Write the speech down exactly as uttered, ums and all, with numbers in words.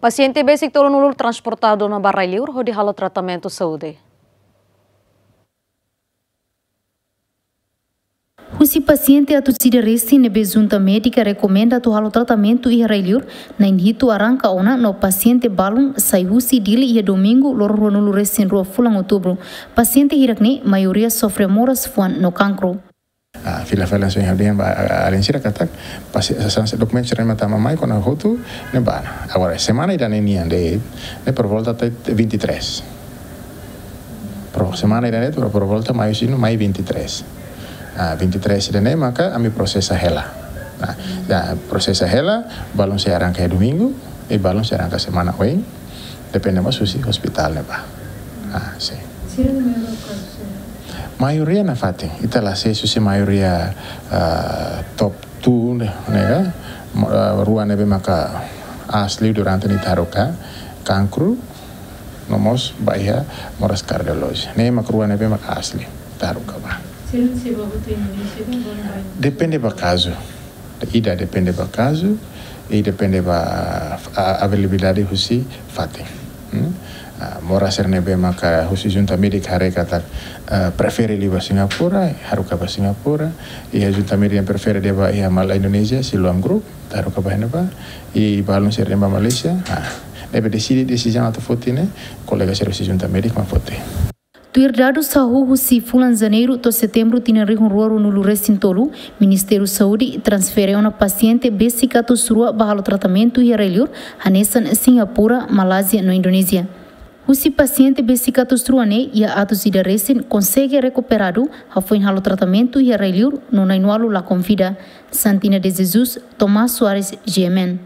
Pasiente besik tolunulu transportadu ona ba rai-li'ur hodi halo tratamentu saúde. Husi pasiente atus ida resin ne'ebé Junta Médika rekomenda atu halo tratamentu iha rai-li'ur, na'in hitu arranka ona no pasiente balun sai husi Dili iha domingu loron ruanulu resin rua fulan Outubru. Pasiente hirak-ne'e maioria sofre moras fuan no kankru. Ah, fila-fila só yang dia ba, ah, alin sira katak, pasi, sa, sa, dokumentu sira mak tama mai kona hotu ne'ebá. Agora, semana ida-ne'e nian de'it, ne'e por volta até vinte e três. Por semana ida-ne'e, por, por volta mai sinu, mai vinte e três. Ah, vinte e três ida-ne'e maka ami prosesa hela. Nah, ya, prosesa hela, balun sei arranka iha domingu, i balun sei arranka semana oin, depende mós husi ospitál ne'ebá. Ah, sin. Sira ne'e maioria kazu sira? Maioria nafatin, ita la sei husi maioria, ah, top two ne'e, ne'e ka? Mo-, ah, rua ne'ebé maka aas liu durante ne'e ita haruka, kankru, no mós ba iha moras kardiolójika. Ne'e mak rua ne'ebé maka aas liu ita haruka ba. Sira sei ba hotu Indonézia ka, ba, ba? Depende ba kazu. Ida depende ba kazu, i depende ba, ah, availabilidade husi fatin. Hmm? Ah, moras sira ne'ebé maka husi Junta Médika haree katak, ah, prefere liu ba Singapura, haruka ba Singapura, i Junta Médika yang prefere de'it ba iha Malay Indonesia, Siloam Group, haruka ba iha ne'ebá, i balun sira de'it ba Malaysia, ah, ne'ebé deside, desizaun atu foti ne'e, kolega sira husi Junta Médika mak foti. Tuir dadus hahú husi fulan Janeiru to'o Setembru tinan rihun rua ruanulu resin tolu, Ministériu Saúde transfere ona pasiente besik atus rua ba halo tratamentu iha rai-li'ur, hanesan Singapura, Malázia no Indonézia. Husi pasiente besik atus rua ne'e, iha atus ida resin konsege rekuperadu, hafoin halo tratamentu iha rai-li'ur, no na'in-ualu lakon vida. Santina de Jesus, Tomás Soares, G M N.